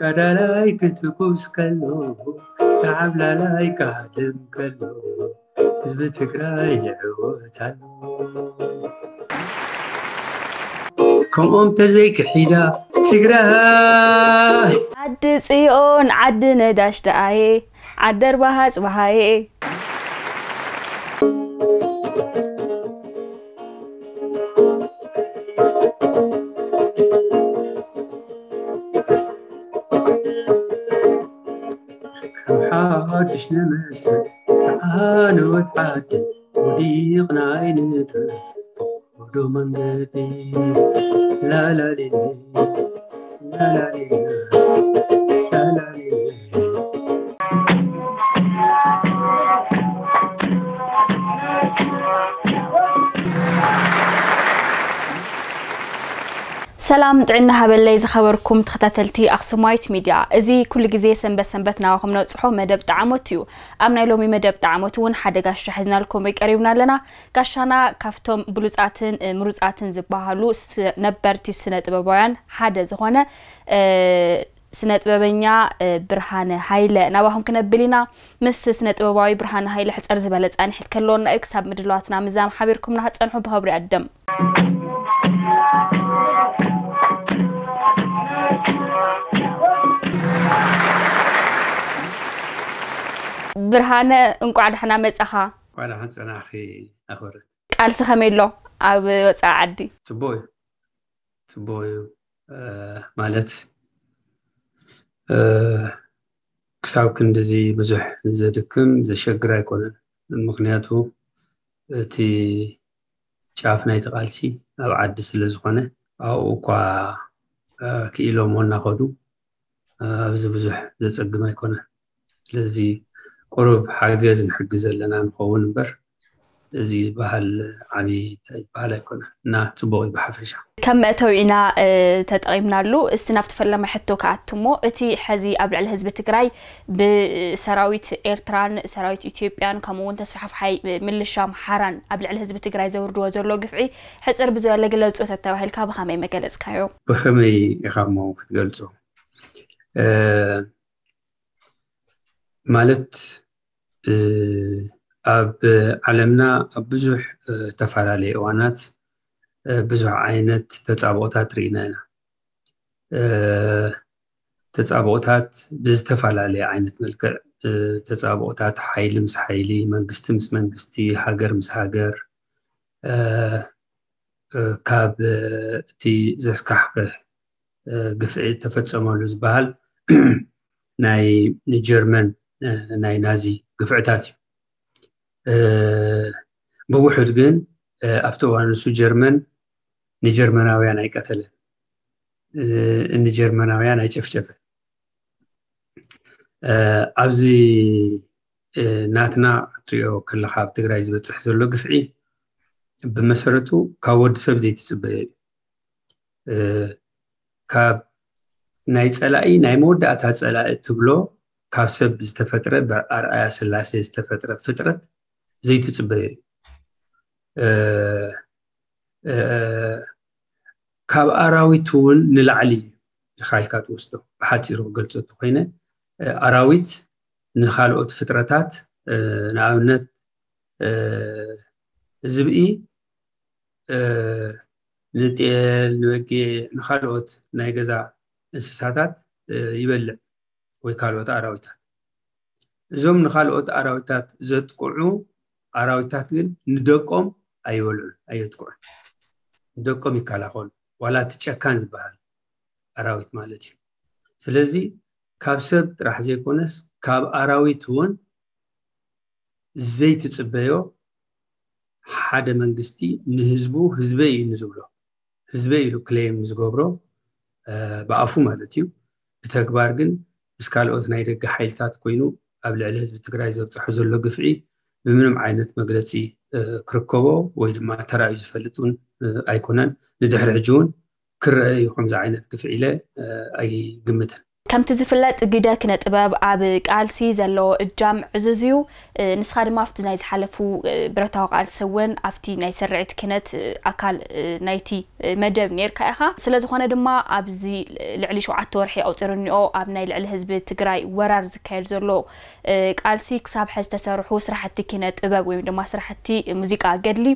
ዓብላላይ ክትኩስ ከሎ፣ ዓብላላይ ክሃድም ከሎ፣ ህዝቢ ትግራይ ይዕወት ኣሎ። ከምኦም ተዘይክሒዳ ትግራይ። ዓዲ ጽዮን ዓዲ ነዳሽ ደኣየ፣ ዓዲ ኣርባሃ ጽባሃየ። ከም ሓድሽ ንመስል፣ ዓወት ዓዲ ወዲቕና ኣይንተርፍ። ወዶ መንገዲ ላላሊለ፣ ላላሊለ፣ ላላሊለ። ሰላም ጥዕና ሃበለይ ዝኸበርኩም ተኸታተልቲ ኣኽሱማይት ሚድያ፣ እዚ ኩሉ ግዜ ሰንበት ሰንበት ናባኹም ነብጽሖ መደብ ጣዕሞት እዩ። ኣብ ናይ ሎሚ መደብ ጣዕሞት እውን ሓደ ጋሻ ሒዝናልኩም ቀሪብና ኣለና። ጋሻና ካብቶም ብሉጻትን፣ እ፣ ምሩጻትን ዝበሃሉ ስ-፣ ነበርቲ ስነ ጥበባውያን ሓደ ዝኾነ፣ እ፣ ስነ ጥበበኛ፣ እ፣ ብርሃነ ሃይለ ናባኹም ክነብል ኢና። ምስ ስነ ጥበባዊ ብርሃነ ሃይለ ሕጽር ዝበለ ጻንሒት ከለወና እዩ። ክሳብ ምድላዋትና ምዛም ሓቢርኩምና ክትጸንሑ ብኸብሪ ኣደም። ብርሃነ፣ እንቋዕ ደሕና መጻኻ። እንቋዕ ደሓን ጸናሕኪ ኣኽብረት። ቃልሲ ከመይ ኣሎ ኣብ ወጻኢ ዓዲ? ጽቡቕ እዩ። ጽቡቕ እዩ። እ፣ ማለት፣ እ፣ ክሳብ ክንድዚ ብዙሕ ዘድክም ዘሸግር ኣይኮነን። ምኽንያቱ እቲ ጫፍ ናይቲ ቃልሲ ኣብ ዓዲ ስለ ዝኾነ፣ ኣብኡ እኳ፣ እ፣ ክኢሎሞ እናኸዱ፣ እ፣ ኣብዚ ብዙሕ ዘጸግም ኣይኮነን። ስለዚ ቁሩብ ሓገዝ ንሕግዝ ዘለና ንኸውን እምበር፣ እዚ ዝበሃል ዓብዪ እንታይ ዝበሃል ኣይኮነን እና ጽቡቕ እዩ ብሓፈሻ። ከም መእተዊ ኢና፣ እ፣ ተጠቒምናሉ። እስቲ ናብቲ ፈለማ ሕቶ ክኣቱ እሞ፣ እቲ ሕዚ ኣብ ልዕሊ ህዝቢ ትግራይ ብሰራዊት ኤርትራን ሰራዊት ኢትዮጵያን ከምኡ እውን ተስፋሕፋሓይ ምልሻ ኣምሓራን ኣብ ልዕሊ ህዝቢ ትግራይ ዘውርድዎ ዘሎ ግፍዒ ሕጽር ብዝበለ ግለጹ ተተባሂልካ ብኸመይ መገለጽካዮ? ብኸመይ ኢኻ እሞ ክትገልጾ? እ፣ ማለት፣ እ፣ ኣብ ዓለምና ኣብ ብዙሕ፣ እ፣ ተፈላለየ እዋናት፣ እ፣ ብዙሕ ዓይነት ተጻብኦታት ርኢና ኢና። እ፣ ተጻብኦታት ብዝተፈላለየ ዓይነት መልክዕ፣ እ፣ ተጻብኦታት ሓይሊ ምስ ሓይሊ፣ መንግስቲ ምስ መንግስቲ፣ ሃገር ምስ ሃገር፣ እ፣ እ፣ ካብ፣ እ፣ እቲ ዘስካሕክሕ፣ እ፣ ግፍዒ ተፈጸመሉ ዝበሃል ናይ ጀርመን፣ እ፣ ናይ ናዚ ግፍዕታት እዩ። እ፣ ብውሑድ ግን፣ እ፣ ኣብቲ እዋን ንሱ ጀርመን ንጀርመናውያን ኣይቀተለን፣ እ፣ ንጀርመናውያን ኣይጨፍጨፈን። እ፣ ኣብዚ፣ እ፣ ናትና ክትሪኦ ከለኻ ኣብ ትግራይ ዝበፅሕ ዘሎ ግፍዒ ብመሰረቱ ካብ ወዲ ሰብ ዘይትፅበዮ እዩ። እ፣ ካብ ናይ ፀላኢ ናይ መወዳእታ ፀላኢ እትብሎ ካብ ሰብ ዝተፈጥረ ብኣርኣያ ስላሴ ዝተፈጥረ ፍጥረት ዘይትፅበዮ እዩ። እ፣ እ፣ ካብ ኣራዊት እውን ንላዕሊ ኢኻ ኢልካ ትወስዶ። ብሓፂሩ ክገልፆ እንተኮይነ፣ እ፣ ኣራዊት ንኻልኦት ፍጥረታት፣ እ፣ ንኣብነት፣ እ፣ ዝብኢ፣ እ፣ ንጤል፣ ንበጊዕ፣ ንኻልኦት ናይ ገዛ እንስሳታት፣ እ፣ ይበልዕ ወይ ካልኦት ኣራዊታት። እዞም ንኻልኦት ኣራዊታት ዘጥቅዑ ኣራዊታት ግን ንደቆም ኣይበልዑን፣ ኣየጥቅዑን። ንደቆም ይከላኸሉ። ዋላ እቲ ጨካን ዝበሃል ኣራዊት ማለት እዩ። ስለዚ ካብ ሰብ ጥራሕ ዘይኮነስ ካብ ኣራዊት እውን ዘይትጽበዮ ሓደ መንግስቲ ንህዝቡ ህዝበይ እዩ ንዝብሎ፣ ህዝበይ ኢሉ ክሌም ንዝገብሮ፣ እ፣ ብኣፉ ማለት እዩ፣ ብተግባር ግን ምስ ካልኦት ናይ ደገ ሓይልታት ኮይኑ ኣብ ልዕሊ ህዝቢ ትግራይ ዘብፅሖ ዘሎ ግፍዒ ብምንም ዓይነት መግለፂ፣ እ፣ ክርከቦ ወይ ድማ ተራእዩ ዝፈልጥ እውን፣ እ፣ ኣይኮነን። ንድሕሪ ሕጂ እውን ክረአ እዩ ከምዚ ዓይነት ግፍዒ ኢለ፣ እ፣ ኣይግምትን። ከምቲ ዝፍለጥ ግደ ኪነ ጥበብ ኣብ ቃልሲ ዘለዎ እጃም ዕዙዝ እዩ። ንስኻ ድማ ኣብቲ ናይ ዝሓለፉ ብረታዊ ቃልሲ እውን ኣብቲ ናይ ስርዒት ኪነት ኣካል ናይቲ መደብ ነርካ ኢኻ። ስለ ዝኾነ ድማ ኣብዚ ልዕሊ ሸውዓተ ወርሒ ኣቑፂሩ እኒኦ ኣብ ናይ ልዕሊ ህዝቢ ትግራይ ወራር ዝካየድ ዘሎ ቃልሲ ክሳብ ሕዚ ዝተሰርሑ ስራሕቲ ኪነ ጥበብ ወይ ድማ ስራሕቲ ሙዚቃ ገድሊ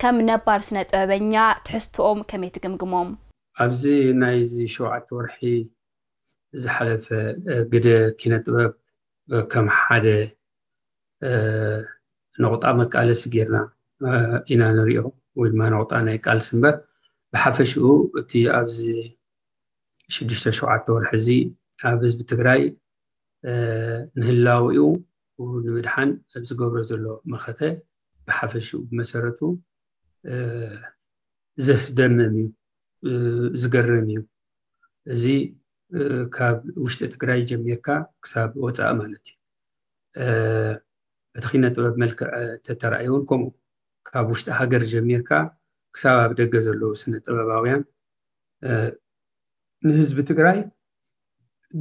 ከም ነባር ስነ ጥበበኛ ትሕዝትኦም ከመይ ትግምግሞም? ኣብዚ ናይዚ ሸውዓተ ወርሒ ዝሓለፈ ግደ ኪነ ጥበብ ከም ሓደ ነቑጣ መቃለሲ ጌርና ኢና ንሪኦ፣ ወይ ድማ ነቑጣ ናይ ቃልሲ እምበር። ብሓፈሽኡ እቲ ኣብዚ ሽዱሽተ ሸውዓተ ወርሒ እዚ ኣብ ህዝቢ ትግራይ ንህላዊኡ ንምድሓን ኣብ ዝገብሮ ዘሎ መኸተ ብሓፈሽኡ ብመሰረቱ ዘስደምም እዩ፣ ዝገርም እዩ። እዚ ካብ ውሽጢ ትግራይ ጀሚርካ ክሳብ ወፃኢ ማለት እዩ። እቲ ኪነ ጥበብ መልክዕ ተተራእዩ እውን ከምኡ፣ ካብ ውሽጢ ሃገር ጀሚርካ ክሳብ ኣብ ደገ ዘለዉ ስነ ጥበባውያን ንህዝቢ ትግራይ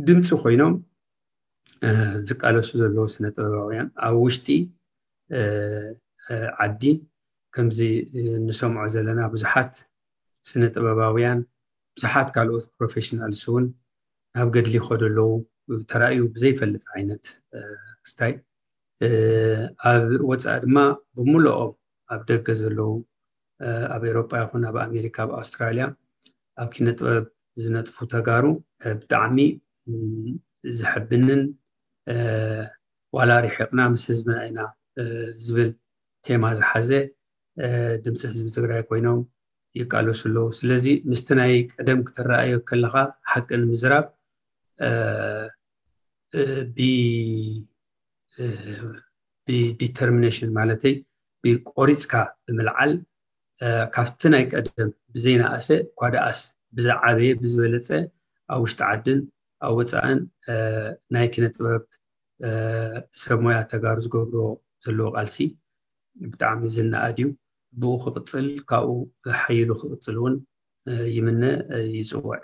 ድምፂ ኮይኖም ዝቃለሱ ዘለዉ ስነ ጥበባውያን ኣብ ውሽጢ ዓዲ ከምዚ እንሰምዖ ዘለና ብዙሓት ስነ ጥበባውያን፣ ብዙሓት ካልኦት ፕሮፌሽናልስ እውን ናብ ገድሊ ይኸዱ ኣለዉ። ተራእዩ ብዘይፈልጥ ዓይነት ክስታይ ኣብ ወፃኢ ድማ ብምልኦም ኣብ ደገ ዘለዉ ኣብ ኤሮጳ ይኹን ኣብ ኣሜሪካ ኣብ ኣውስትራልያ ኣብ ኪነ ጥበብ ዝነጥፉ ተጋሩ ብጣዕሚ ዘሕብንን ዋላ ርሒቕና ምስ ህዝብና ኢና ዝብል ቴማ ዝሓዘ ድምፂ ህዝቢ ትግራይ ኮይኖም ይቃለሱ ኣለዉ። ስለዚ ምስቲ ናይ ቀደም ክተረኣዮ ከለኻ ሓቂ ንምዝራብ ብዲተርሚኔሽን ማለተይ ብቆሪፅካ ብምልዓል ካብቲ ናይ ቀደም ብዘይነኣሰ እኳ ደኣስ ብዝዓበየ ብዝበለፀ ኣብ ውሽጢ ዓድን ኣብ ወፃእን ናይ ኪነ ጥበብ ሰብ ሞያ ተጋሩ ዝገብርዎ ዘለዎ ቃልሲ ብጣዕሚ ዝነኣድ እዩ። ብኡ ክቕፅል ካብኡ ሓይሉ ክቕፅል እውን ይምነ ይፅውዕ።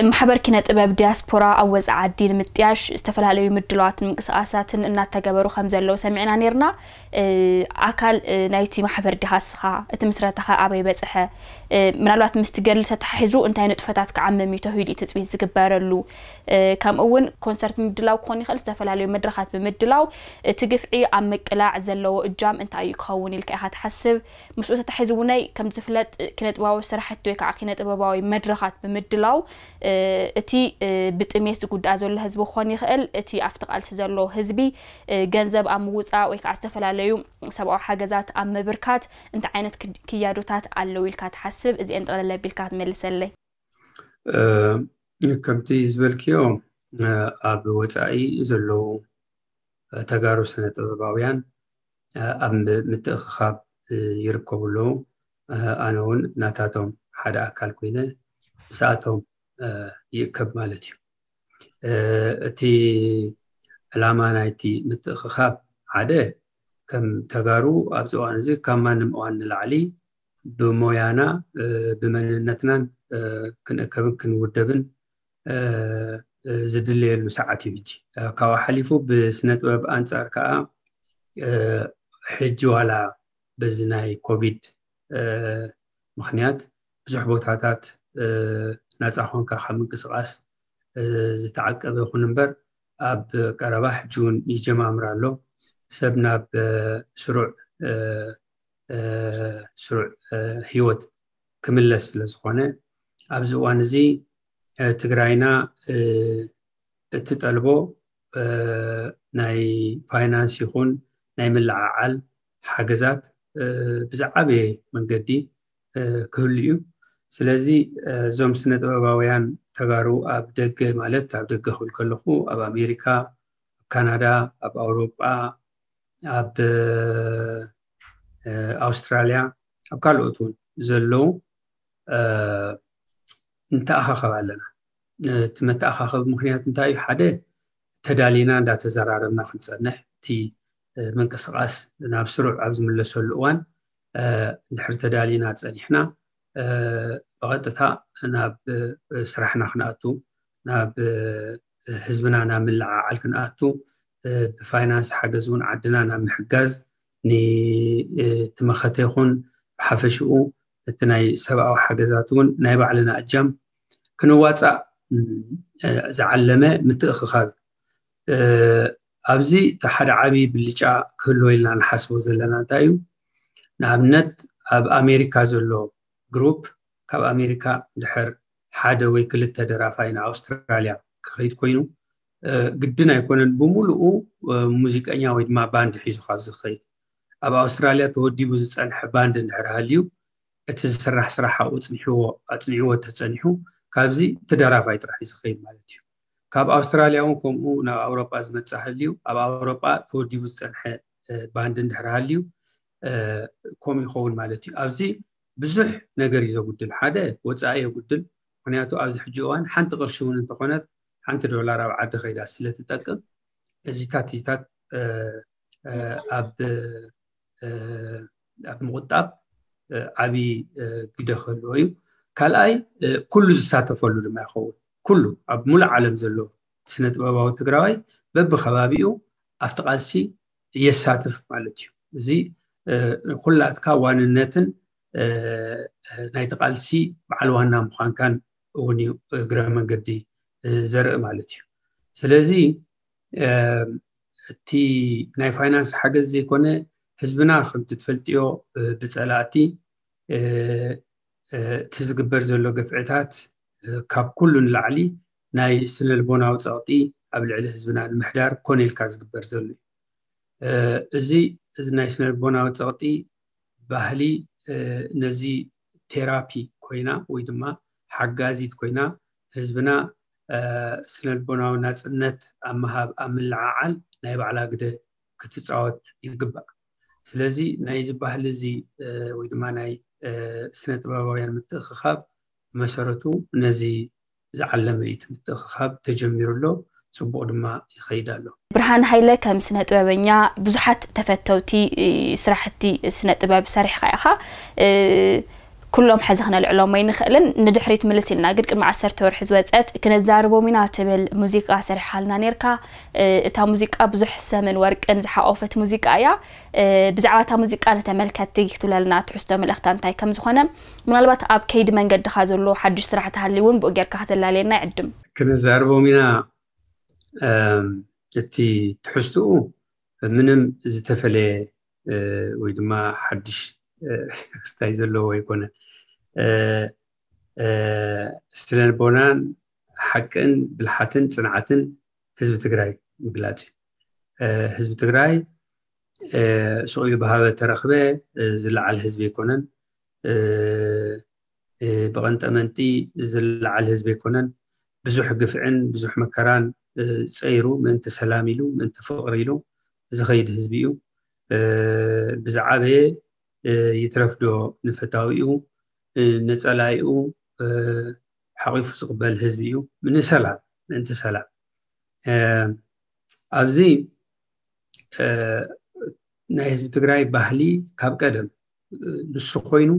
ማሕበር ኪነ ጥበብ ዲያስፖራ ኣብ ወፃኢ ዓዲ ንምጥያሽ ዝተፈላለዩ ምድላዋትን ምንቅስቃሳትን እናተገበሩ ከም ዘለዉ ሰሚዕና ነርና። ኣካል ናይቲ ማሕበር ዲኻ እስኻ? እቲ ምስረታኸ ኣበይ በፅሐ? ምናልባት ምስቲ ገድሊ ተተሓሒዙ እንታይ ንጥፈታት ክዓምም እዩ ተሂሉ እዩ ትፅቢት ዝግበረሉ? ከምኡ እውን ኮንሰርት ምድላው ክኾን ይኽእል፣ ዝተፈላለዩ መድረኻት ብምድላው እቲ ግፍዒ ኣብ ምቅላዕ ዘለዎ እጃም እንታይ እዩ ክኸውን ኢልካ ኢኻ ትሓስብ? ምስኡ ተታሒዙ እውነይ ከም ዝፍለጥ ኪነ ጥበባዊ ስራሕቲ ወይ ከዓ ኪነ ጥበባዊ መድረኻት ብምድላው እቲ ብጥሜት ዝጉዳእ ዘሎ ህዝቢ ክኾን ይኽእል፣ እቲ ኣብቲ ቃልሲ ዘሎ ህዝቢ ገንዘብ ኣብ ምውፃእ ወይ ከዓ ዝተፈላለዩ ሰብኣዊ ሓገዛት ኣብ ምብርካት እንታይ ዓይነት ክያዶታት ኣለዉ ኢልካ ትሓስብ? እዚአን ጠቕለል ኣቢልካ ትመልሰለይ። ከምቲ ዝበልክዮ ኣብ ወፃኢ ዘለዉ ተጋሩ ስነ ጥበባውያን ኣብ ምትእኽኻብ ይርከቡ ኣለዉ። ኣነ እውን ናታቶም ሓደ ኣካል ኮይነ ምስኣቶም ይእከብ ማለት እዩ። እቲ ዕላማ ናይቲ ምትእኽኻብ ሓደ ከም ተጋሩ ኣብዚ እዋን እዚ ካብ ማንም እዋን ንላዕሊ ብሞያና ብመንነትናን ክንእከብን ክንውደብን ዝድለየሉ ሰዓት እዩ ሕጂ። ካብኡ ሓሊፉ ብስነ ጥበብ ኣንፃር ከዓ ሕጂ ዋላ በዚ ናይ ኮቪድ ምክንያት ብዙሕ ቦታታት ናፃ ኮንካ ካብ ምንቅስቃስ ዝተዓቀበ ይኹን እምበር ኣብ ቀረባ ሕጂ እውን ይጀማምር ኣሎ። ሰብ ናብ ስሩዕ ስሩዕ ህይወት ክምለስ ስለ ዝኾነ ኣብዚ እዋን እዚ ትግራይና እትጠልቦ ናይ ፋይናንስ ይኹን ናይ ምልዓዓል ሓገዛት ብዝዓበየ መንገዲ ክህሉ እዩ። ስለዚ እዞም ስነ ጥበባውያን ተጋሩ ኣብ ደገ ማለት ኣብ ደገ ክብል ከለኹ ኣብ ኣሜሪካ፣ ኣብ ካናዳ፣ ኣብ ኣውሮጳ፣ ኣብ ኣውስትራልያ፣ ኣብ ካልኦት እውን ዘለዉ ንተኣኻኸብ ኣለና። እቲ መተኣኻኸቢ ምክንያት እንታይ እዩ? ሓደ ተዳሊና እንዳተዘራረብና ክንፀንሕ፣ እቲ ምንቅስቃስ ናብ ስሩዕ ኣብ ዝምለሰሉ እዋን እንድሕር ተዳሊና ፀኒሕና ብቐጥታ ናብ ስራሕና ክንኣቱ ናብ ህዝብና ናብ ምልዓዓል ክንኣቱ፣ ብፋይናንስ ሓገዝ እውን ዓድና ናብ ምሕጋዝ፣ ንትመኸተ ይኹን ብሓፈሽኡ እቲ ናይ ሰብኣዊ ሓገዛት እውን ናይ ባዕልና እጃም ክንዋፃእ ዝዓለመ ምትእኽኻብ። ኣብዚ እቲ ሓደ ዓብዪ ብልጫ ክህልዎ ኢልና ንሓስቦ ዘለና እንታይ እዩ? ንኣብነት ኣብ ኣሜሪካ ዘሎ ግሩፕ፣ ካብ ኣሜሪካ ድሕር ሓደ ወይ ክልተ ደራፋይ ንኣውስትራልያ ክኸይድ ኮይኑ፣ ግድን ኣይኮነን ብሙሉኡ ሙዚቀኛ ወይ ድማ ባንድ ሒዙ ካብ ዝኸይድ። ኣብ ኣውስትራልያ ተወዲቡ ዝፀንሐ ባንድ እንድሕር ሃልዩ፣ እቲ ዝስራሕ ስራሕ ኣብኡ ፅንሕዎ ኣፅኒዕዎ ተፀኒሑ፣ ካብዚ እቲ ደራፋይ ጥራሕ እዩ ዝኸይድ ማለት እዩ። ካብ ኣውስትራልያ እውን ከምኡ ናብ ኣውሮጳ ዝመፅእ ሃልዩ፣ ኣብ ኣውሮጳ ተወዲቡ ዝፀንሐ ባንድ እንድሕር ሃልዩ፣ ከምኡ ይኸውን ማለት እዩ። ኣብዚ ብዙሕ ነገር እዩ ዘጉድል። ሓደ፣ ወፃኢ የጉድል። ምክንያቱ ኣብዚ ሕጂ እዋን ሓንቲ ቅርሺ እውን እንተኾነት፣ ሓንቲ ዶላር ኣብ ዓዲ ከይዳ ስለትጠቅም፣ እዚታት እዚታት ኣብ ኣብ ምቁጣብ ዓብዪ ግደ ክህልዎ እዩ። ካልኣይ፣ ኩሉ ዝሳተፈሉ ድማ ይኸውን። ኩሉ ኣብ ሙሉእ ዓለም ዘሎ ስነ ጥበባዊ ትግራዋይ በብከባቢኡ ኣብቲ ቃልሲ የሳትፍ ማለት እዩ። እዚ ኩላትካ ዋንነትን ናይቲ ቃልሲ በዓል ዋና ምዃንካን እውን እዩ እግረ መንገዲ ዘርኢ ማለት እዩ። ስለዚ እቲ ናይ ፋይናንስ ሓገዝ ዘይኮነ፣ ህዝብና ከምቲ ትፈልጥዮ ብፀላእቲ እቲ ዝግበር ዘሎ ግፍዕታት ካብ ኩሉ ንላዕሊ ናይ ስነልቦናዊ ፀቕጢ ኣብ ልዕሊ ህዝብና ንምሕዳር ኮነ ኢልካ ዝግበር ዘሎ እዩ። እዚ እዚ ናይ ስነልቦናዊ ፀቕጢ ባህሊ ነዚ ቴራፒ ኮይና ወይ ድማ ሓጋዚት ኮይና ህዝብና ስነልቦናዊ ናፅነት ኣብ ምሃብ ኣብ ምልዓዓል ናይ ባዕላ ግደ ክትፃወት ይግባእ። ስለዚ ናይዚ ባህሊ እዚ ወይ ድማ ናይ ስነ ጥበባውያን ምትእኽኻብ መሰረቱ ነዚ ዝዓለመ እዩ። እቲ ምትእኽኻብ ተጀሚሩ ኣሎ፣ ፅቡቕ ድማ ይኸይድ ኣሎ። ብርሃን ሃይለ ከም ስነ ጥበበኛ ብዙሓት ተፈተውቲ ስራሕቲ ስነ ጥበብ ሰሪሕካ ኢኻ። ኩሎም ሕዚ ክነልዕሎም ኣይንኽእልን። ንድሕሪት ምልስ ኢልና ግን ቅድሚ ዓሰርተ ወርሒ ዝወፀት ክነዛርቦም ኢና ትብል ሙዚቃ ሰሪሕካልና ነይርካ። እታ ሙዚቃ ብዙሕ ሰምን ወርቅን ዝሓቆፈት ሙዚቃ እያ። ብዛዕባ እታ ሙዚቃ ንተመልከትቲ ክትብለልና ትሕዝቶ መልእኽታ እንታይ ከም ዝኾነ፣ ምናልባት ኣብ ከይዲ መንገድኻ ዘሎ ሓድሽ ስራሕ ተሃልዩ እውን ብኡ ጌርካ ከተላልየና ይዕድም። ክነዛርቦም ኢና። እቲ ትሕዝትኡ ምንም ዝተፈለየ ወይ ድማ ሓድሽ ክስታይ ዘለዎ ኣይኮነ። ስነልቦናን ሓቅን ብልሓትን ፅንዓትን ህዝቢ ትግራይ ምግላፅ እዩ። ህዝቢ ትግራይ ሱቕ ኢሉ ብሃበ ተረኽበ ዝለዓል ህዝቢ ኣይኮነን። ብቐንጠመንጢ ዝለዓል ህዝቢ ኣይኮነን። ብዙሕ ግፍዕን ብዙሕ መከራን ፀይሩ ምእንቲ ሰላም ኢሉ ምእንቲ ፍቕሪ ኢሉ ዝኸይድ ህዝቢ እዩ። ብዝዓበየ ይትረፍዶ ንፈታዊኡ ንፀላኢኡ ሓቒፉ ዝቕበል ህዝቢ እዩ። ንሰላም፣ ምእንቲ ሰላም ኣብዚ ናይ ህዝቢ ትግራይ ባህሊ ካብ ቀደም ንሱ ኮይኑ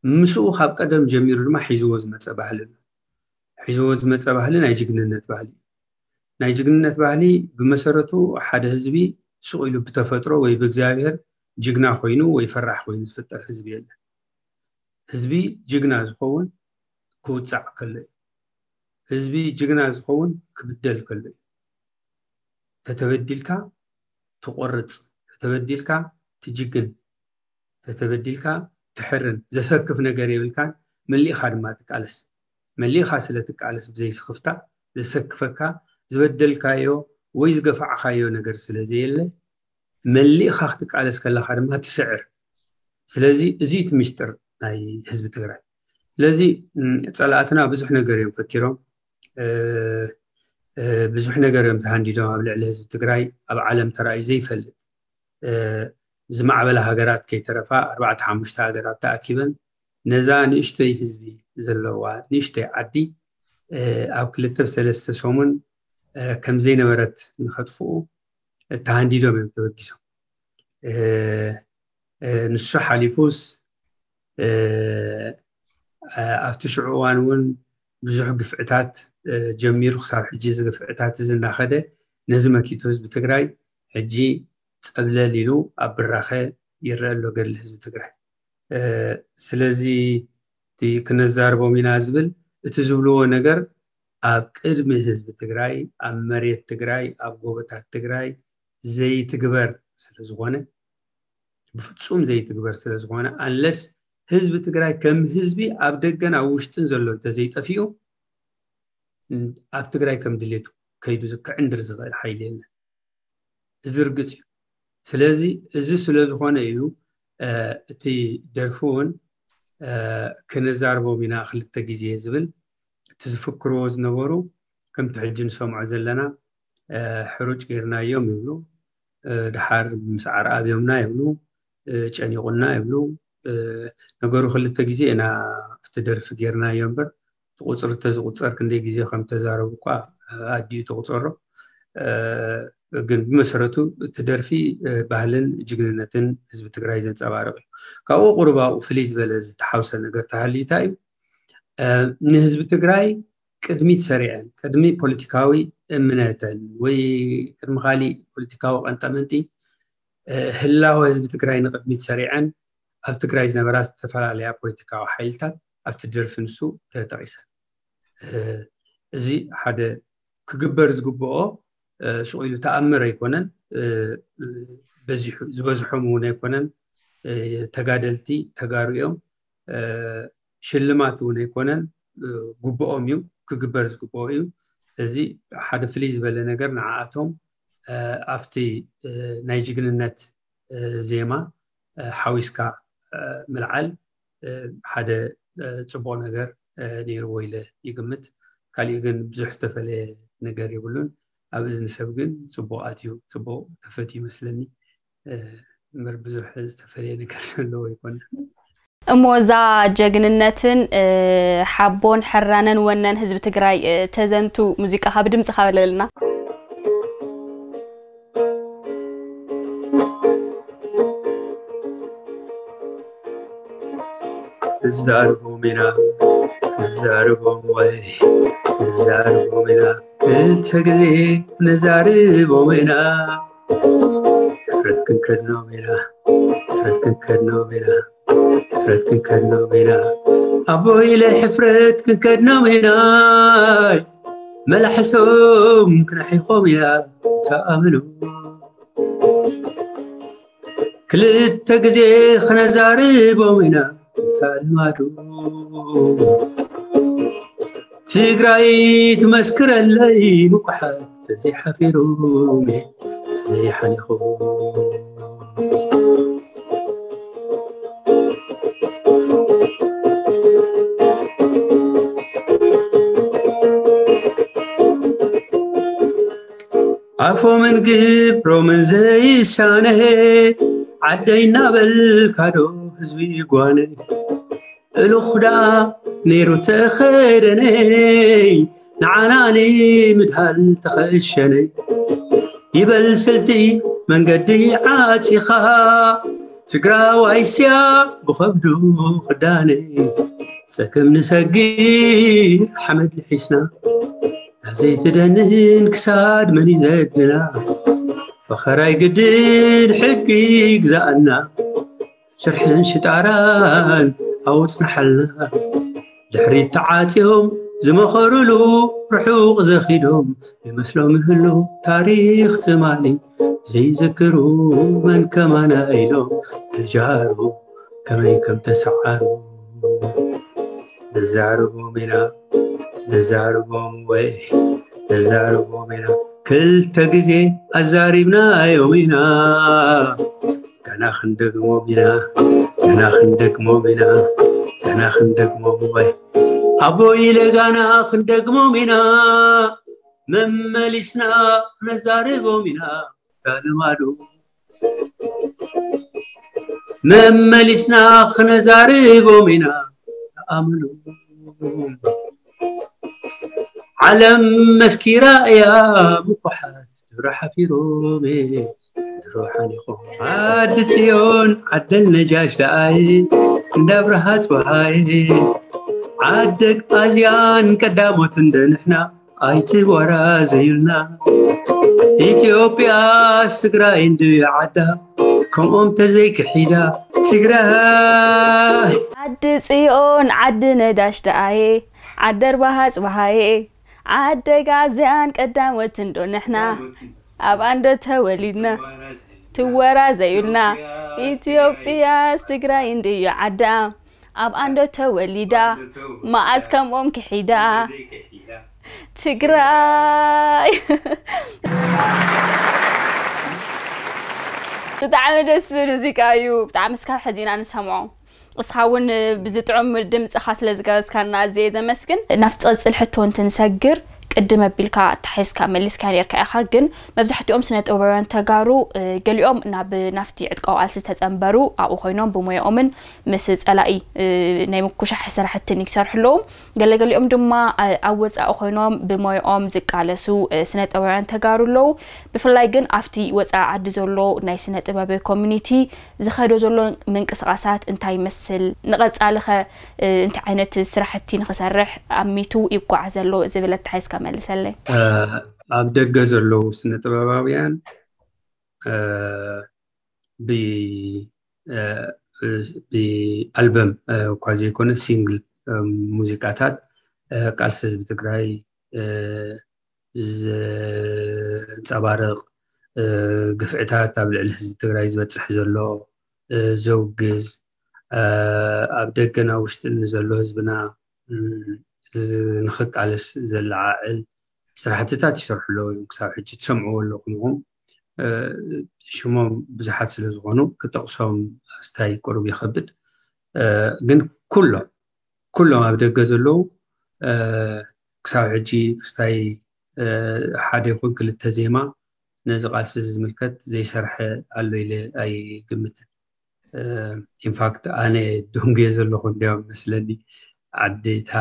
ምስኡ ካብ ቀደም ጀሚሩ ድማ ሒዝዎ ዝመፀ ባህሊ ኣሎ። ሒዝዎ ዝመፀ ባህሊ ናይ ጅግንነት ባህሊ እዩ። ናይ ጅግንነት ባህሊ ብመሰረቱ ሓደ ህዝቢ ሱቕ ኢሉ ብተፈጥሮ ወይ ብእግዚኣብሔር ጅግና ኮይኑ ወይ ፈራሕ ኮይኑ ዝፍጠር ህዝቢ የለን። ህዝቢ ጅግና ዝኸውን ክውፃዕ ከሎ እዩ። ህዝቢ ጅግና ዝኸውን ክብደል ከሎ እዩ። ተተበዲልካ ትቆርፅ፣ ተተበዲልካ ትጅግን፣ ተተበዲልካ ትሕርን፣ ዘሰክፍ ነገር የብልካን። መሊእኻ ድማ ትቃለስ። መሊእኻ ስለ ትቃለስ ብዘይ ስኽፍታ ዘሰክፈካ ዝበደልካዮ ወይ ዝገፋዕካዮ ነገር ስለ ዘየለ መሊእኻ ክትቃለስ ከለኻ ድማ ትስዕር። ስለዚ እዚ እቲ ምስጢር ናይ ህዝቢ ትግራይ። ስለዚ ፀላእትና ብዙሕ ነገር እዮም ፈኪሮም። ብዙሕ ነገር እዮም ተሃንዲዶም ኣብ ልዕሊ ህዝቢ ትግራይ ኣብ ዓለም ተራእዩ ዘይፈልጥ። ዝማዕበላ ሃገራት ከይተረፋ ኣርባዕተ ሓሙሽተ ሃገራት ተኣኪበን ነዛ ንእሽተይ ህዝቢ ዘለዋ ንእሽተይ ዓዲ ኣብ ክልተ ሰለስተ ሰሙን ከም ዘይነበረት ንኸጥፍኡ ተሃንዲዶም እዮም ተበጊሶም። ንሱ ሓሊፉስ ኣብቲ ሽዑ እዋን እውን ብዙሕ ግፍዕታት ጀሚሩ ክሳብ ሕጂ እዚ ግፍዕታት እዚ እናኸደ ነዚ መኪቱ ህዝቢ ትግራይ ሕጂ ፀብለል ኢሉ ኣብ ብራኸ ይረአ ኣሎ ገድሊ ህዝቢ ትግራይ። ስለዚ እቲ ክነዛርቦም ኢና ዝብል እቲ ዝብልዎ ነገር ኣብ ቅድሚ ህዝቢ ትግራይ ኣብ መሬት ትግራይ ኣብ ጎቦታት ትግራይ ዘይትግበር ስለዝኾነ ብፍፁም ዘይትግበር ስለዝኾነ ኣንለስ ህዝቢ ትግራይ ከም ህዝቢ ኣብ ደገን ኣብ ውሽጥን ዘሎ እንተዘይጠፊኡ ኣብ ትግራይ ከም ድሌቱ ከይዱ ክዕንድር ዝኽእል ሓይሊ የለን። እዚ ርግፅ እዩ። ስለዚ እዚ ስለዝኾነ እዩ እቲ ደርፊ እውን ክነዛርቦም ኢና ክልተ ግዜ ዝብል እቲ ዝፍክርዎ ዝነበሩ ከምቲ ሕጂ ንሰምዖ ዘለና ሕሩጭ ጌርናዮም ይብሉ፣ ድሓር ምስ ዓርኣብዮምና ይብሉ፣ ጨኒቑና ይብሉ። ነገሩ ክልተ ግዜ ኢና ኣብቲ ደርፊ ጌርናዮ እምበር ቁፅሪ ተዝቁፀር ክንደይ ግዜ ከም ተዛረቡ እኳ ኣዲኡ ተቁፀሮ። ግን ብመሰረቱ እቲ ደርፊ ባህልን ጅግንነትን ህዝቢ ትግራይ ዘንፀባርቕ እዩ። ካብኡ ቁሩብ ኣብኡ ፍልይ ዝበለ ዝተሓውሰ ነገር ተሃልዩ እንታይ እዩ? ንህዝቢ ትግራይ ቅድሚት ሰሪዐን ቅድሚ ፖለቲካዊ እምነተን ወይ ቅድሚ ካሊእ ፖለቲካዊ ቀንጠመንጢ ህላወ ህዝቢ ትግራይ ንቅድሚት ሰሪዐን ኣብ ትግራይ ዝነበራ ዝተፈላለያ ፖለቲካዊ ሓይልታት ኣብቲ ደርፊ ንሱ ተጠቂሰን። እዚ ሓደ ክግበር ዝግብኦ ሽቕ ኢሉ ተኣምር ኣይኮነን። ዝበዝሖም እውን ኣይኮነን ተጋደልቲ ተጋሩ እዮም። ሽልማት እውን ኣይኮነን፣ ግብኦም እዩ፣ ክግበር ዝግብኦ እዩ። ስለዚ ሓደ ፍልይ ዝበለ ነገር ንዓኣቶም ኣብቲ ናይ ጅግንነት ዜማ ሓዊስካ ምልዓል ሓደ ፅቡቕ ነገር ነይርዎ ኢለ ይግምት። ካሊእ ግን ብዙሕ ዝተፈለየ ነገር የብሉን። ኣብ እዝኒ ሰብ ግን ፅቡቕ ኣትዩ፣ ፅቡቕ ተፈትዩ ይመስለኒ። እምበር ብዙሕ ዝተፈለየ ነገር ዘለዎ ኣይኮነን። እሞ እዛ ጀግንነትን ሓቦን ሕራነን ወነን ህዝቢ ትግራይ ተዘንቱ ሙዚቃ ካብ ድምፂ ካበለልና። እዛርቦም ኢና እዛርቦም ወይ እዛርቦም ኢና ክልተ ግዜ ነዛርቦም ኢና። ሕፍረት ክንከድኖም ኢና ሕፍረት ክንከድኖም ኢና ሕፍረት ክንከድኖም ኢና ኣቦይለ ሕፍረት ክንከድኖም ኢና። መላሕሶም ክነሒኾም ኢና ተኣምኑ ክልተ ግዜ ክነዛርቦም ኢና እንታ ልማዱ። ትግራይ ትመስክረለይ ምኩሓት ዘይሓፊሮም ዘይሓሊኹ። ኣፎምን ግብሮምን ዘይሳነ ዓደይ እናበልካዶ ህዝቢ ጓነ እልኹ ደኣ ነይሩ ተኸደነይ ንዓና ንምድሃል ተኸሸነይ ይበል ስልቲ መንገዲ ዓፂኻ ትግራዋይ ስያ ብኸብዱ ክዳነ ጸገም ንሰጊር ሓመድ ልሒስና ናዘይትደንን ክሳድ መን ይዘግና ፈኸራይ ግድን ሕጊ ይግዛኣና ሽርሕን ሽጣራን ኣውፅናሓልና ድሕሪት ተዓፅዮም ዝመኸሩሉ ርሑቕ ዘኺዶም ይመስሎም ይህሉ ታሪኽ ትማሊ ዘይዝክሩ መን ከማና ኢሎም ተጃሩ ከመይ ከም ተሰዓሩ ንዛረቦም ኢና ንዛረቦም ወይ ንዛረቦም ኢና ክልተ ግዜ ኣዛሪብናዮም ኢና ገና ክንደግሞም ኢና ገና ክንደግሞም ኢና ገና ክንደግሞም ወይ ኣቦይ ለጋና ክንደግሞም ኢና መመሊስና ነዛርቦም ኢና ታልማዶ መመሊስና ክነዛርቦም ኢና ኣምሉ ዓለም መስኪራ እያ ምኩሓት ድሮ ሓፊሮም ድሮ ሓሊኾም ዓዲ ጽዮን ዓደል ነጃሽ ደኣይ እንዳ ብርሃ ጽባሃይ ኣደግ ኣዝያን ቀዳሞት እንደ ንሕና ኣይትወራዘዩልና። ኢትዮጵያስ ትግራይ እንድዩ ዓዳ ከምኦም ተዘይክሒዳ። ትግራይ ዓዲ ጽዮን ዓዲ ነዳሽ ደኣየ ዓዲ ኣርባሃ ጽባሃየ ዓደግ ኣዝያን ቀዳሞት እንዶ ንሕና ኣብ ኣንዶ ተወሊድና ትወራዘዩልና። ኢትዮጵያስ ትግራይ እንድዩ ዓዳ ኣብ ኣንዶ ተወሊዳ መኣዝ ከምኦም ክሒዳ። ትግራይ ብጣዕሚ ደስ ዝብል ሙዚቃ እዩ። ብጣዕሚ እስካብ ሕዚ ኢና ንሰምዖ። እስኻ እውን ብዝጥዑም ድምፅኻ ስለ ዝጋበዝካና ኣዝየ ዘመስግን። ናብቲ ዝቐፅል ሕቶ እንትንሰግር ቅድም ኣቢልካ ኣተሓሒዝካ መሊስካ ነርካ ኢኻ። ግን መብዛሕትኦም ስነ ጥበባውያን ተጋሩ ገሊኦም ናብ ናፍቲ ዕጥቃዊ ቃልሲ ዝተፀንበሩ ኣብኡ ኮይኖም ብሞያኦምን ምስ ፀላኢ ናይ ምኩሻሕ ስራሕትን ይሰርሑ ኣለዉ። ገለገሊኦም ድማ ኣብ ወፃኢ ኮይኖም ብሞያኦም ዝቃለሱ ስነ ጥበባውያን ተጋሩ ኣለዉ። ብፍላይ ግን ኣብቲ ወፃኢ ዓዲ ዘሎ ናይ ስነ ጥበብ ኮሚኒቲ ዝኸዶ ዘሎ ምንቅስቃሳት እንታይ ይመስል? ንቐፃሊ ኸ እንታይ ዓይነት ስራሕቲ ንኽሰርሕ ኣሚቱ ይጓዓዝ ዘሎ ዝብል ኣተሓሒዝካ መልሰለይ። ኣብ ደገ ዘለዉ ስነ ጥበባውያን ብኣልበም እኳ ዘይኮነ ሲንግል ሙዚቃታት ቃልሲ ህዝቢ ትግራይ ዘንፀባርቕ፣ ግፍዕታት ኣብ ልዕሊ ህዝቢ ትግራይ ዝበፅሕ ዘሎ ዘውግዝ፣ ኣብ ደገን ኣብ ውሽጥን ንዘሎ ህዝብና ንኽቃለስ ዘለዓዕል ስራሕትታት ይሰርሑ ኣለዉ እዮም። ክሳብ ሕጂ ትሰምዕዎ ኣለኹም ኢኹም። ሽሞም ብዙሓት ስለ ዝኾኑ ክጠቕሶም ኣስታይ ቁሩብ ይኸብድ። ግን ኩሎም ኩሎም ኣብ ደገ ዘለዉ ክሳብ ሕጂ ክስታይ ሓደ ይኹን ክልተ ዜማ ነዚ ቃልሲ እዚ ዝምልከት ዘይሰርሐ ኣሎ ኢለ ኣይግምትን። ኢንፋክት ኣነ ደንጉየ ዘለኹ እንዲያውም መስለኒ ዓዲ እታ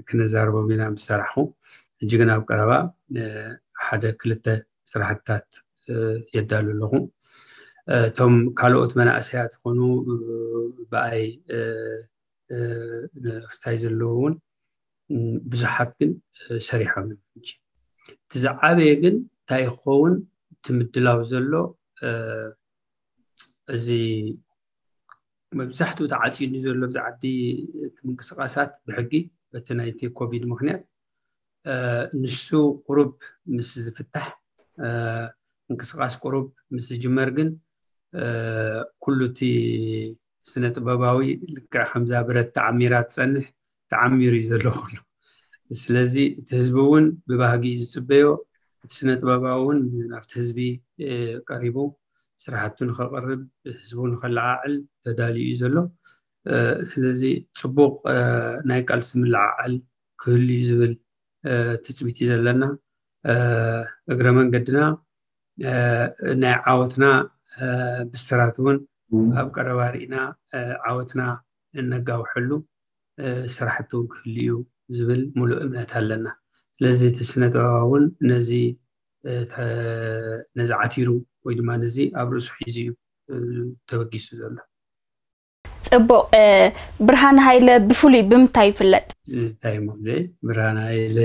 ክነዛርቦም ኢና ምስ ሰራሕኹ። ሕጂ ግን ኣብ ቀረባ ሓደ ክልተ ስራሕትታት የዳሉ ኣለኹ። እቶም ካልኦት መናእሰያት ይኾኑ ብኣይ ክስታይ ዘለዉ እውን ብዙሓት ግን ሰሪሖም እዮም። ሕጂ እቲ ዝዓበየ ግን እንታይ ክኸውን እቲ ምድላው ዘሎ እዚ መብዛሕትኡ ተዓፂዱ ዘሎ ኣብዚ ዓዲ እቲ ምንቅስቃሳት ብሕጊ በቲ ናይቲ ኮቪድ ምክንያት ንሱ ቁሩብ ምስ ዝፍታሕ ምንቅስቃስ ቁሩብ ምስ ዝጅመር ግን ኩሉ እቲ ስነ ጥበባዊ ልክዕ ከምዛ ብረት ተዓሚራ ትፀንሕ ተዓሚሩ እዩ ዘሎ ኩሉ። ስለዚ እቲ ህዝቢ እውን ብባህጊ እዩ ዝፅበዮ። እቲ ስነ ጥበባዊ እውን ናብቲ ህዝቢ ቀሪቡ ስራሕቱ ንኸቕርብ ህዝቡ ንኸለዓዕል ተዳልዩ እዩ ዘሎ። ስለዚ ፅቡቕ ናይ ቃልሲ ምልዓዓል ክህሉ እዩ ዝብል ትፅቢት እዩ ዘለና። እግረ መንገድና ናይ ዓወትና ብስራት እውን ኣብ ቀረባ ርኢና ዓወትና እነጋውሐሉ ስራሕቲ እውን ክህሉ እዩ ዝብል ሙሉእ እምነት ኣለና። ስለዚ እቲ ስነ ጥበባ እውን ነዚ ነዚ ዓቲሩ ወይ ድማ ነዚ ኣብ ርእሱ ሒዙ እዩ ተበጊሱ ዘሎ። ፅቡቕ። ብርሃን ሃይለ ብፍሉይ ብምንታይ ይፍለጥ? እንታይ እሞ ብርሃን ሃይለ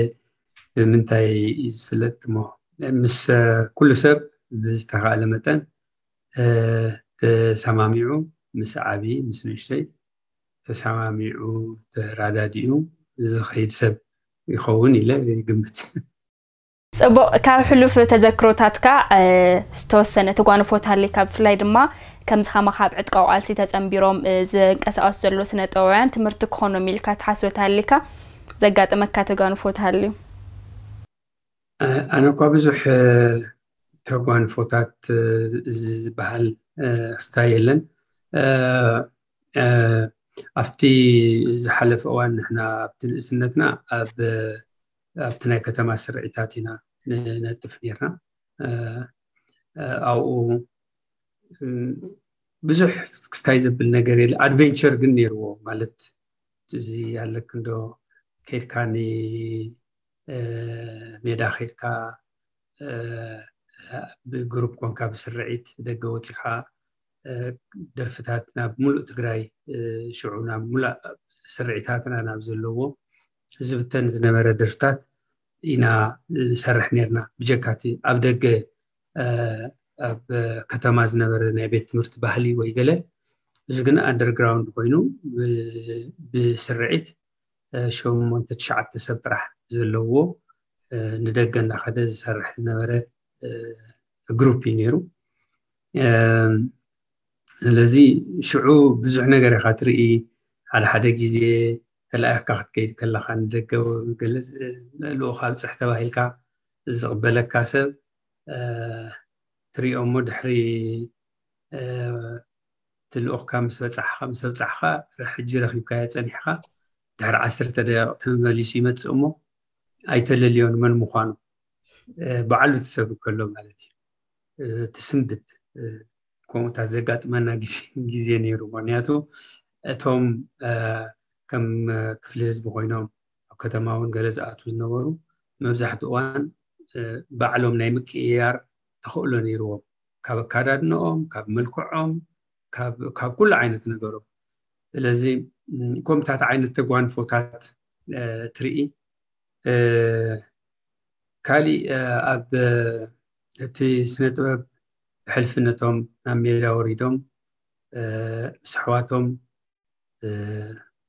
ብምንታይ እዩ ዝፍለጥ እሞ ምስ ኩሉ ሰብ ብዝተኻእለ መጠን ተሰማሚዑ ምስ ዓቢ ምስ ንእሽተይ ተሰማሚዑ ተራዳዲኡ ዝኸይድ ሰብ ይኸውን ኢለ ይግምት። ፅቡቕ። ካብ ሕሉፍ ተዘክሮታትካ ዝተወሰነ ተጓንፎ ተሃልይካ ብፍላይ ድማ ከምዚ ከማኻ ኣብ ዕጥቃዊ ቃልሲ ተፀንቢሮም ዝንቀሳቐሱ ዘለዉ ስነ ጥበባውያን ትምህርቲ ክኾኖም ኢልካ ትሓስቦ ተሃልይካ ዘጋጠመካ ተጓንፎ ተሃልዩ? ኣነ እኳ ብዙሕ ተጓንፎታት እዚ ዝበሃል ክስታይ የለን። ኣብቲ ዝሓለፈ እዋን ንሕና ኣብቲ ንእስነትና ኣብ ኣብቲ ናይ ከተማ ስርዒታት ኢና ንነጥፍ ነርና። ኣብኡ ብዙሕ ክስታይ ዘብል ነገር የለ። ኣድቨንቸር ግን ነይርዎ ማለት እዚ ኣለክ እንዶ ከድካ ንሜዳ ከድካ ብግሩፕ ኮንካ ብስርዒት ደገ ወፂኻ ደርፍታት ናብ ሙሉእ ትግራይ ሽዑ ናብ ሙሉእ ስርዒታትና ናብ ዘለዎ ዝብተን ዝነበረ ደርፍታት ኢና ንሰርሕ ነርና። ብጀካቲ ኣብ ደገ ኣብ ከተማ ዝነበረ ናይ ቤት ትምህርቲ ባህሊ ወይ ገለ፣ እዚ ግን underground ኮይኑ ብስርዒት ሸሞንተ ትሽዓተ ሰብ ጥራሕ ዘለዎ ንደገ እናኸደ ዝሰርሕ ዝነበረ ግሩፕ እዩ ነይሩ። ስለዚ ሽዑ ብዙሕ ነገር ኢኻ ትርኢ። ሓደ ሓደ ግዜ ተላኢኽካ ክትከይድ ከለኻ ንደገ ልኡኽ ኣብፅሕ ተባሂልካ ዝቕበለካ ሰብ ትሪኦ እሞ ድሕሪ ትልኡኽካ ምስ በፃሕኻ ምስ ኣብፃሕኻ ሕጂ ረኺብካዮ ፀኒሕካ ድሕሪ ዓሰርተ ደቂቕ ተመሊሱ ይመፅእ እሞ ኣይተለልዮን መን ምዃኑ ባዕሉ ትሰብ ከሎ ማለት እዩ። ትስንብት ከምኡታት ዘጋጥመና ግዜ ነይሩ። ምክንያቱ እቶም ከም ክፍሊ ህዝቢ ኮይኖም ኣብ ከተማ እውን ገለ ዝኣትዉ ዝነበሩ መብዛሕትኡ እዋን ባዕሎም ናይ ምቅይያር ተኽእሎ ነይርዎም፣ ካብ ኣካዳድንኦም፣ ካብ መልክዖም፣ ካብ ኩሉ ዓይነት ነገሮም። ስለዚ ከምታት ዓይነት ተጓንፎታት ትርኢ። ካሊእ ኣብ እቲ ስነ ጥበብ ብሕልፍነቶም ናብ ሜዳ ወሪዶም ምስ ኣሕዋቶም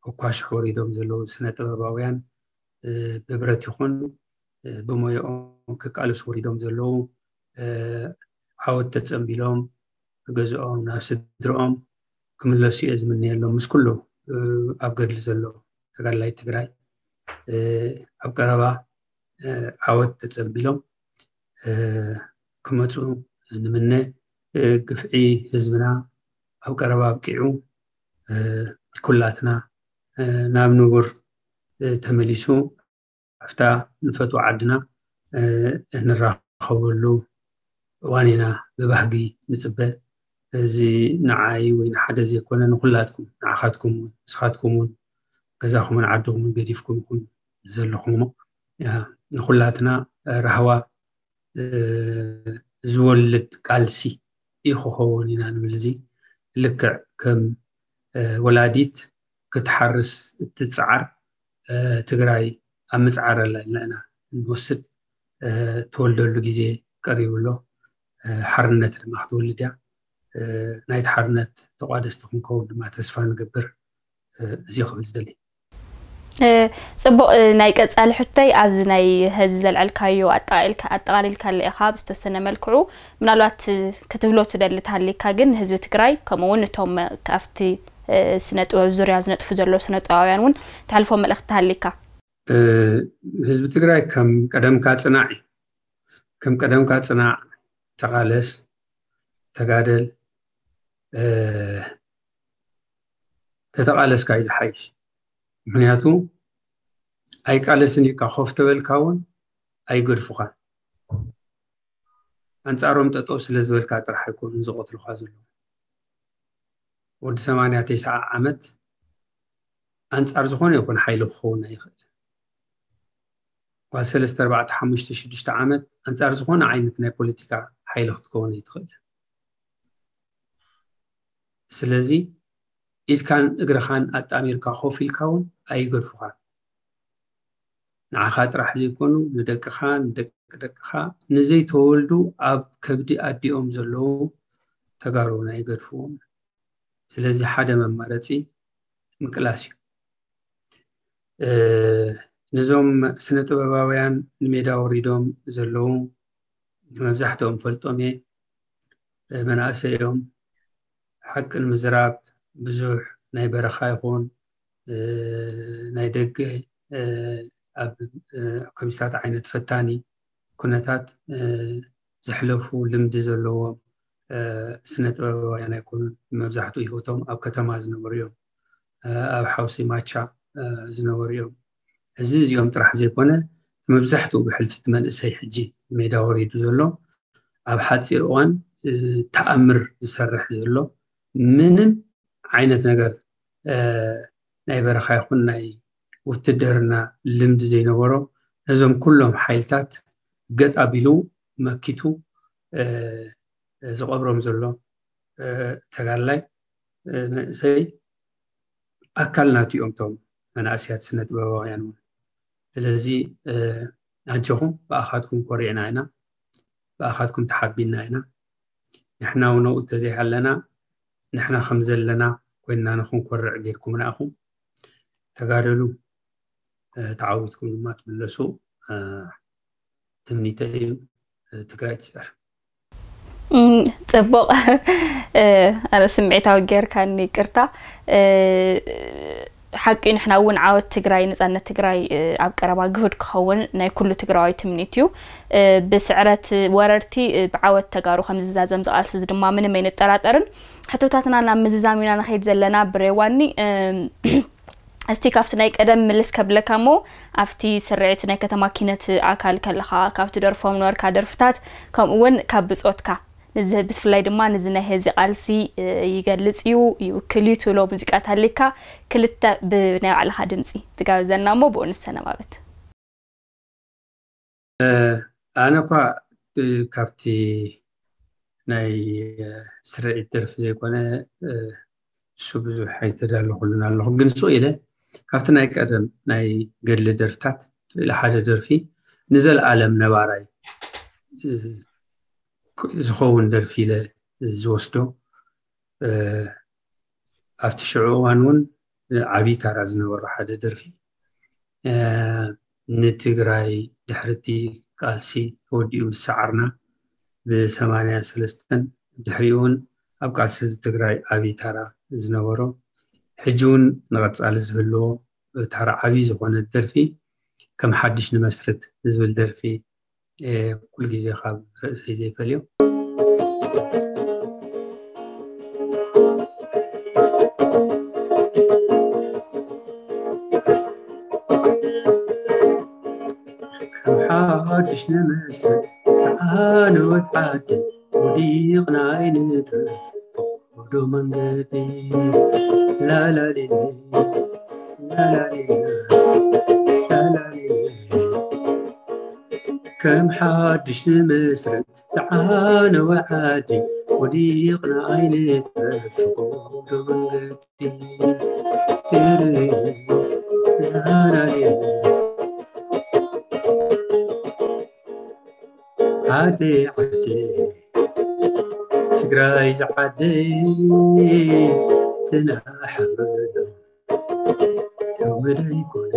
ኣኳሽሕ ወሪዶም ዘለዉ ስነ ጥበባውያን ብብረት ይኹን ብሞያኦም ክቃለሱ ወሪዶም ዘለዉ ዓወት ተፀንቢሎም ገዝኦም ናብ ስድርኦም ክምለሱ እየ ዝምነየሎም። ምስ ኩሉ ኣብ ገድሊ ዘሎ ተጋድላይ ትግራይ ኣብ ቀረባ ዓወት ተፀንቢሎም ክመፁ ንምነ። ግፍዒ ህዝብና ኣብ ቀረባ ኣብቂዑ ኩላትና ናብ ንቡር ተመሊሱ ኣብታ ንፈትዋ ዓድና እንራኸበሉ እዋን ኢና ብባህጊ ንፅበ። እዚ ንዓይ ወይ ንሓደ ዘይኮነ ንኩላትኩም፣ ንዓኻትኩም እውን፣ ንስኻትኩም እውን ገዛኹምን ዓድኹምን ገዲፍኩም ኢኹም ዘለኹም እሞ ንኩላትና ራህዋ ዝወልድ ቃልሲ እዩ ክኸውን ኢና ንብል። እዚ ልክዕ ከም ወላዲት ክትሓርስ እትፅዓር ትግራይ ኣብ ምፅዓር ኣላ ኢልና ኢና እንወስድ። ትወልደሉ ግዜ ቀሪቡ ኣሎ። ሓርነት ድማ ክትወልድ እያ። ናይቲ ሓርነት ተቋደስቲ ክንከውን ድማ ተስፋ ንገብር። እዚ ክብል ዝደሊ። ፅቡቕ። ናይ ቀፃሊ ሕቶይ ኣብዚ ናይ ሀዚ ዘልዐልካዮ ኣጠቓሊልካለ ኢኻ ብዝተወሰነ መልክዑ፣ ምናልባት ክትብሎ ትደሊ ተሃሊካ ግን ንህዝቢ ትግራይ ከምኡ እውን እቶም ኣብቲ ስነ ጥበብ ዙርያ ዝነጥፉ ዘለዉ ስነ ጥበባውያን እውን ተሕልፎ መልእኽቲ ተሃሊካ። ህዝቢ ትግራይ ከም ቀደምካ ፅናዕ እዩ። ከም ቀደምካ ፅናዕ፣ ተቓለስ፣ ተጋደል። ተተቓለስካ እዩ ዝሓይሽ። ምክንያቱ ኣይቃለስን ኢልካ ኮፍ ተበልካ እውን ኣይገድፉኻን። ኣንፃሮም ጠጠው ስለ ዝበልካ ጥራሕ ኣይኮኑን ዝቐትሉኻ ዘለዉ። ወዲ ሰማንያ ተስዓ ዓመት ኣንፃር ዝኾነ ይኹን ሓይሊ ክኸውን ኣይኽእል። ጓል ሰለስተ ኣርባዕተ ሓሙሽተ ሽዱሽተ ዓመት ኣንፃር ዝኾነ ዓይነት ናይ ፖለቲካ ሓይሊ ክትከውን ኣይትኽእል። ስለዚ ኢድካን እግርኻን ኣጣሚርካ ኮፍ ኢልካ እውን ኣይገድፉኻን። ንዓኻ ጥራሕ ዘይኮኑ ንደቅኻ፣ ንደቂ ደቅኻ፣ ንዘይተወልዱ ኣብ ከብዲ ኣዲኦም ዘለዉ ተጋሩ እውን ኣይገድፍዎም። ስለዚ ሓደ መማረፂ ምቅላስ እዩ። ነዞም ስነ ጥበባውያን ንሜዳ ወሪዶም ዘለዉ ንመብዛሕትኦም ፈልጦም እየ። መናእሰይ እዮም። ሓቂ ንምዝራብ ብዙሕ ናይ በረኻ ይኹን ናይ ደገ ኣብ ከምዚታት ዓይነት ፈታኒ ኩነታት ዘሕለፉ ልምዲ ዘለዎም ስነ ጥበባውያን ኣይኮኑን። መብዛሕትኡ ህይወቶም ኣብ ከተማ ዝነበሩ እዮም። ኣብ ሓውሲ ማቻ ዝነበሩ እዮም። እዚ እዚኦም ጥራሕ ዘይኮነ መብዛሕትኡ ብሕልፊ እቲ መንእሰይ ሕጂ ሜዳ ወሪዱ ዘሎ ኣብ ሓፂር እዋን ተኣምር ዝሰርሕ ዘሎ ምንም ዓይነት ነገር ናይ በረኻ ይኹን ናይ ውትድርና ልምዲ ዘይነበሮ ነዞም ኩሎም ሓይልታት ገጥ ኣቢሉ መኪቱ ዝቐብሮም ዘሎ ተጋድላይ መንእሰይ ኣካል ናቱ እዮም። እቶም መናእሰያት ስነ ጥበባውያን እውን ስለዚ ኣጆኹም፣ ብኣኻትኩም ኮሪዕና ኢና፣ ብኣኻትኩም ተሓቢና ኢና። ንሕና እውን ኣብኡ እንተዘይሃለና፣ ንሕና ከም ዘለና ኮይንና ንኽንኮርዕ ጌርኩምና ኢኹም። ተጋደሉ፣ ተዓዊትኩም ድማ ትምለሱ ትምኒተይ እዩ። ትግራይ ትስዕር። ጽቡቕ። ኣነ ስምዒታዊ ጌርካኒ፣ ይቅርታ። ሓቂ፣ ንሕና እውን ዓወት ትግራይ፣ ነጻነት ትግራይ ኣብ ቀረባ ግሁድ ክኸውን ናይ ኩሉ ትግራዋይ ትምኒት እዩ። ብስዕረት ወረርቲ፣ ብዓወት ተጋሩ ከም ዝዛዘም ዝቃልሲ ድማ ምንም ኣይንጠራጠርን። ሕቶታትና ናብ ምዝዛም ኢና ንኸይድ ዘለና። ብሬዋኒ፣ እስቲ ካብቲ ናይ ቀደም ምልስ ከብለካ እሞ፣ ኣብቲ ስርዒት ናይ ከተማ ኪነት ኣካል ከለኻ ካብ ትደርፎም ነበርካ ደርፍታት፣ ከምኡ እውን ካብ ብጾትካ፣ ንዚ ብፍላይ ድማ ንዚ ናይ ህዚ ቃልሲ ይገልጽ እዩ፣ ይውክል እዩ ትብሎ ሙዚቃ ታሊካ ክልተ ብናይ ባዕልኻ ድምጺ ትጋብዘና እሞ ብኡ ንሰነባበት። ኣነ እኳ ካብቲ ናይ ስርዒት ደርፊ ዘይኮነ እሱ ብዙሕ ኣይተዳለኹሉን ኣለኹ፣ ግን ስቕ ኢለ ካብቲ ናይ ቀደም ናይ ገድሊ ደርፍታት ስቕ ኢለ ሓደ ደርፊ ንዘለኣለም ነባራይ ዝኸውን ደርፊ ኢለ ዝወስዶ፣ ኣብቲ ሽዑ እዋን እውን ዓብዪ ታራ ዝነበሮ ሓደ ደርፊ፣ ንትግራይ ድሕሪ እቲ ቃልሲ ተወዲኡ ምስ ሰዓርና ብሰማንያ ሰለስተን፣ ድሕሪኡ እውን ኣብ ቃልሲ ህዝቢ ትግራይ ዓብዪ ታራ ዝነበሮ፣ ሕጂ እውን ንቐፃሊ ዝህልዎ ታራ ዓብዪ ዝኾነ ደርፊ ከም ሓድሽ ንመስርት ዝብል ደርፊ ኩሉ ግዜ ካብ ርእሰይ ዘይፈልዮ። ከም ሓድሽ ንመስርት ዝዓነወት ዓዲ፣ ወዲቕና ኣይንትረፍ ፈቐዶ መንገዲ። ላላሊለ፣ ላላሊለ፣ ላላሊለ። ከም ሓድሽ ንመስርት ዝዓነወ ዓዲ፣ ወዲቕና ኣይንትረፍ ፈቐዶ መንገዲ። ዓደይ ዓደይ ትግራይ ዝዓደይ ትናሓበሎ ሎሚ ደይኮነ።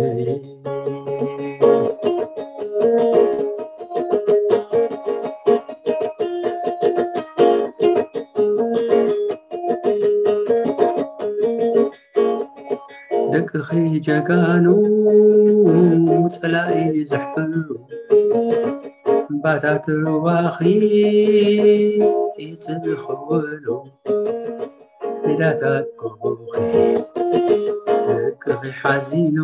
ደቅኺ ጀጋኑ ጸላኢ ዘሕፍሩ፣ እምባታት ሩባኺ ጢጽ ዝኸወሉ፣ ሜዳታት ጎቦኺ ደቅኺ ሓዚኑ፣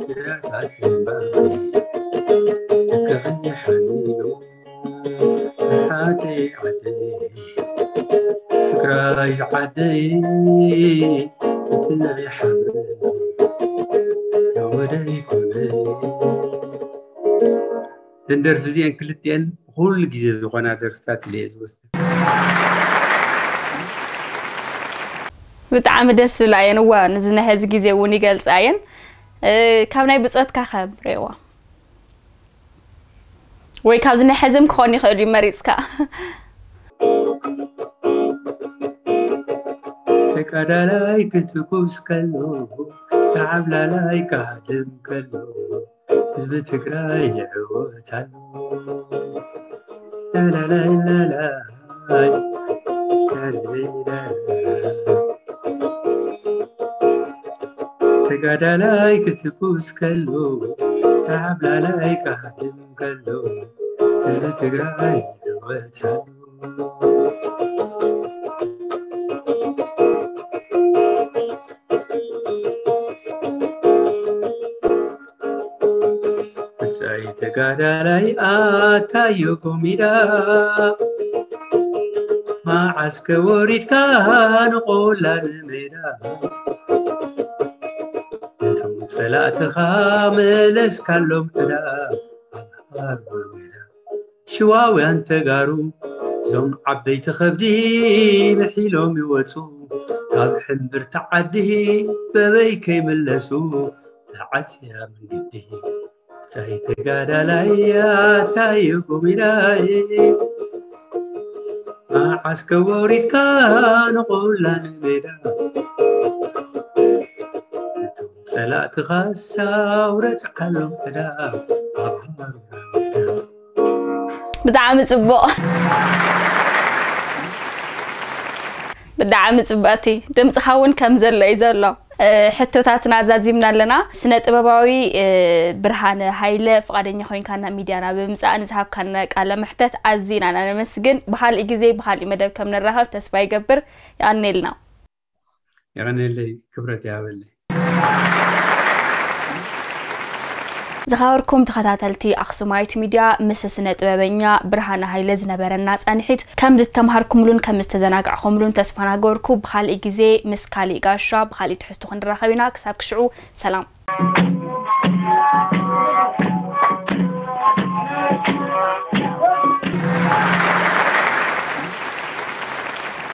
ሜዳታት እምባኺ ደቅኺ ሓዚኑ። ዓደይ ዓደይ ትግራይ ዝዓደይ፣ እቲ ናይ ሓበን ወደይ ኮነ። እዘን ደርፊ እዚአን ክልቲአን ኩሉ ግዜ ዝኾና ደርፍታት ኢለ እየ ዝወስደን። ብጣዕሚ ደስ ዝብላ እየን። እዋ፣ ንዚ ናይ ሐዚ ግዜ እውን ይገልጻ እየን። እ፣ ካብ ናይ ብጾትካ ከ ብሬዋ? ወይ ካብዚ ናይ ሐዚ እውን ክኾን ይኽእል እዩ መሪጽካ። ተጋዳላይ ክትኩስ ከሎ፣ ተዓብላላይ ክሃድም ከሎ፣ ህዝቢ ትግራይ ይዕወት ኣሎ። ላላላይ ላላይ፣ ላላላይ ላላይ። ተጋዳላይ ክትኩስ ከሎ፣ ተዓብላላይ ክሃድም ከሎ፣ ህዝቢ ትግራይ ይዕወት ኣሎ። ብጻይ ተጋዳላይ ኣታዮ ጎሚዳ፣ መዓስ ከ ወሪድካ ንቆላ ንሜዳ፣ ነቶም ጸላእትኻ መለስካሎም ዕዳ ኣብ ሃርባ ሜዳ። ሽዋውያን ተጋሩ እዞም ዓበይቲ ከብዲ ምሒሎም ይወጹ፣ ካብ ሕምብርቲ ዓዲ በበይ ከይምለሱ። ተዓጽያ መንገዲ። ሳይ ተጋዳላይ ኣታዩ ጉሚላይ፣ መዓስ ከወሪድካ ንቑላ ንሜዳ፣ እቶም ጸላእትኻ ሳውረድ ዓሎም ዕዳ ኣብ ሃሩራ ሜዳ። ብጣዕሚ ጽቡቕ። ብጣዕሚ ጽብቕቲ። ድምፅኻ እውን ከም ዘሎ እዩ ዘሎ። ሕቶታትና ኣዛዚምና ኣለና። ስነ ጥበባዊ ብርሃነ ሃይለ፣ ፍቓደኛ ኮይንካ ናብ ሚድያና ብምምፃእ ንዝሃብካና ቃለ መሕተት ኣዚና ኢና ነመስግን። ብካሊእ ግዜ ብካሊእ መደብ ከም ንራኸብ ተስፋ ይገብር። የቐኔልና። የቐኔለይ፣ ክብረት ይሃበለይ። ዝኸበርኩም ተኸታተልቲ ኣኽሱማይት ሚድያ፣ ምስ ስነ ጥበበኛ ብርሃነ ሃይለ ዝነበረና ፃንሒት ከም ዝተምሃርኩምሉን ከም ዝተዘናጋዕኹምሉን ተስፋ ናገበርኩ። ብካሊእ ግዜ ምስ ካሊእ ጋሻ ብካሊእ ትሕዝቶ ክንራኸብ ኢና። ክሳብ ክሽዑ ሰላም።